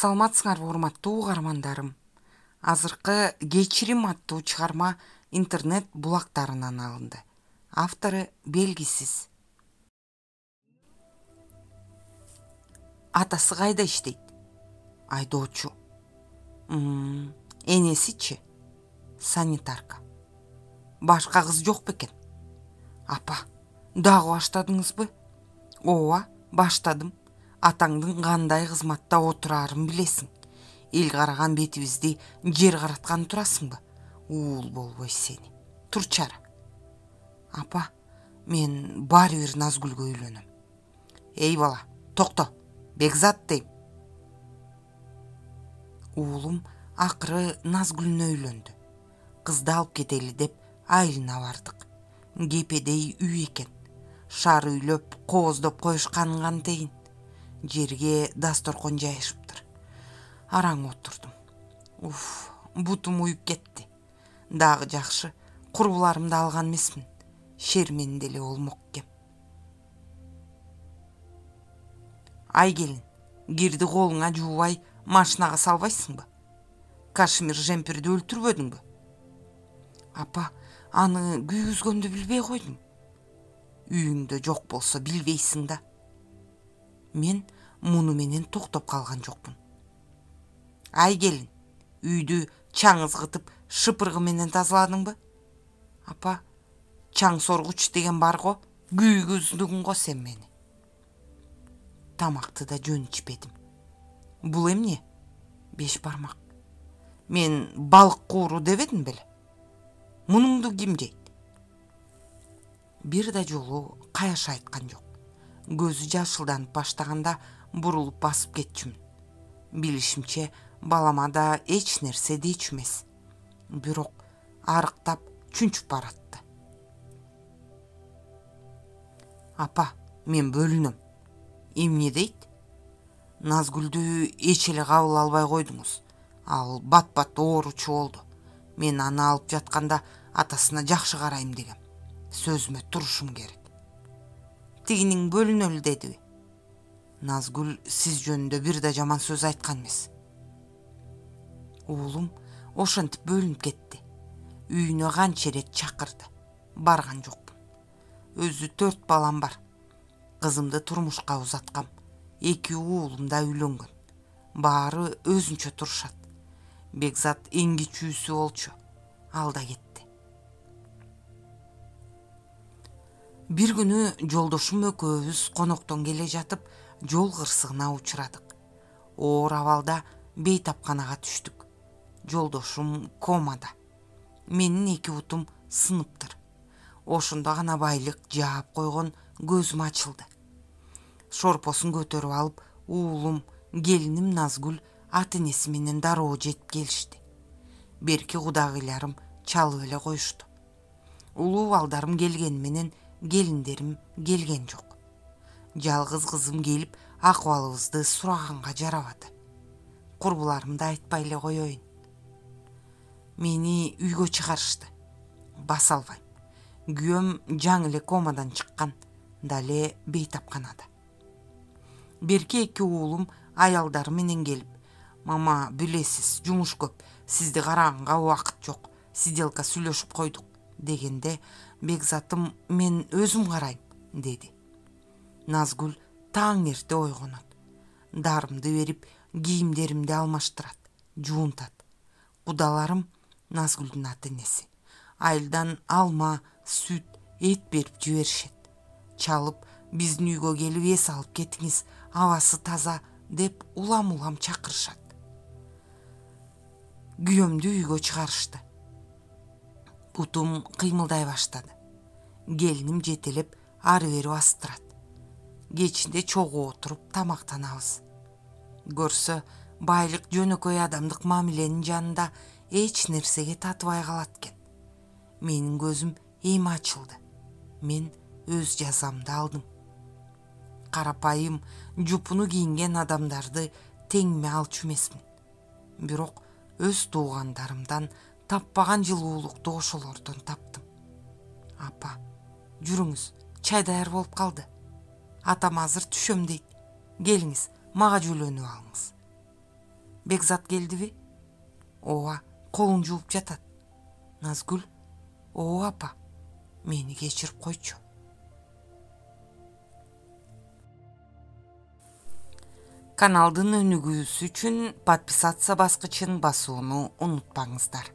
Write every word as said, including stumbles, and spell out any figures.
Саламатсыңарбы урматтуу угармандарым. Азыркы Кечирим аттуу чыгарма интернет булактарынан алынды. Автору белгисиз. Атасы кайда иштейт? Айдоочу. Мм, энесичи? Санитарка. Башка кыз жок бекен? Апа, дагы баштадыңызбы? Ооба, баштадым. Атаңдын кандай кызматта отурарын билесиң. Эл караган бетибизди жер караткан турасыңбы? Уул болбой сени. Турчара. Апа, мен баары бир Назгүлгө үйлөнөм. Эй бала, токто. Бекзат дейм. Уулум акыры Назгүлүнө үйлөндү. Кызды алып кетели деп айылына бардык. Кепедей үй экен. Шаар үйлөп, кооздоп коюшканын кантейин. Жерге дасторкон жайышыптыр. Араң отурдум. Уф, бутум уюп кетти. Дагы жакшы, курбуларымды алган эмесмин. Шермен деле болмок экем. Ай келин, кирди колуңа жуубай машинага салбайсыңбы? Кашмир жемпирди өлтүрбөдүңбү? Апа, аны күйгүзгөндү билбей койдум. Үйүңдө жок болсо билбейсиң да. Мен муну менен токтоп калган жокмун. Ай келин, үйдү чаң ызгытып шыпыргы менен тазаладыңбы? Апа, чаң соргуч деген бар го, күйгүздүң го сен мени. Тамакты да жөн ичпедим. Бул эмне? Беш бармак. Мен балык кууру дебедим беле? Мунуңду ким жейт? Бир да жолу каяша айткан жок. Көзү жашылданып баштаганда бурулуп басып кетчүмүн. Билишимче, балама да эч нерсе дечү эмес. Бирок арыктап чүнчүп баратты. Апа, мен бөлүнөм. Эмне дейт? Назгүлдү эч эле кабыл албай койдуңуз. Ал бат-бат ооручу болду. Мен аны алып жатканда атасына жакшы карайм дегем. Сөзүмө турушум керек. Тигинин бөлүнөлү дедиби? Назгүл сиз жөнүндө бир да жаман сөз айткан эмес. Уулум ошентип бөлүнүп кетти. Үйүнө канча ирет чакырды. Барган жокмун. Өзү төрт балам бар. Кызымды турмушка узаткам. Эки уулум да үйлөнгөн. Баары өзүнчө турушат. Бекзат эң кичүүсү болчу. Ал да кетти. Бир күнү жолдошум экөөбүз коноктон келе жатып, жол кырсыгына учурадык. Оор абалда бейтапканага түштүк. Жолдошум комада. Менин эки бутум сыныптыр. Ошондо гана байлык жаап койгон көзүм ачылды. Шорпосун көтөрүп алып, уулум, келиним Назгүл ата-энеси менен дароо жетип келишти. Берки кудагыйларым чалып эле коюшту. Улуу балдарым келгени менен келиндерим келген жок. Жалгыз кызым келип акыбалыбызды сураганга жарабады. Курбуларымды айтпай эле коеюн. Мени үйгө чыгарышты. Баса албайм. Күйөөм жаңы эле комадан чыккан, дале бейтапканада. Берки эки уулум аялдары менен келип, мама, билесиз, жумуш көп, сизди караганга убакыт жок, сиделка сүйлөшүп койдук дегенде, Бекзатым мен өзүм карайм, деди. Назгүл таң эрте ойгонот. Дарымды берип, кийимдеримди алмаштырат, жуунтат. Кудаларым Назгүлдүн ата-энеси. Айылдан алма, сүт, эт берип жиберишет. Чалып, биздин үйгө келип эс алып кетиңиз, абасы таза деп улам-улам чакырышат. Күйөөмдү үйгө чыгарышты. Бутум кыймылдай баштады. Келиним жетелеп ары-бери бастырат. Кечинде чогуу отуруп тамактанабыз. Көрсө, байлык жөнөкөй адамдык мамиленин жанында эч нерсеге татыбай калат экен. Менин көзүм эми ачылды. Мен өз жазамды алдым. Карапайым, жупуну кийинген адамдарды теңиме алчу эмесмин. Бирок өз туугандарымдан таппаган жылуулукту ошолордон таптым. Апа, жүрүңүз, чай даяр болуп калды. Атам азыр түшөм дейт. Келиңиз, мага жөлөнүп алыңыз. Бекзат келдиби? Ооба, колун жууп жатат. Назгүл: ооба апа, мени кечирип койчу. Каналдын өнүгүүсү үчүн подписация баскычын басууну унутпаңыздар.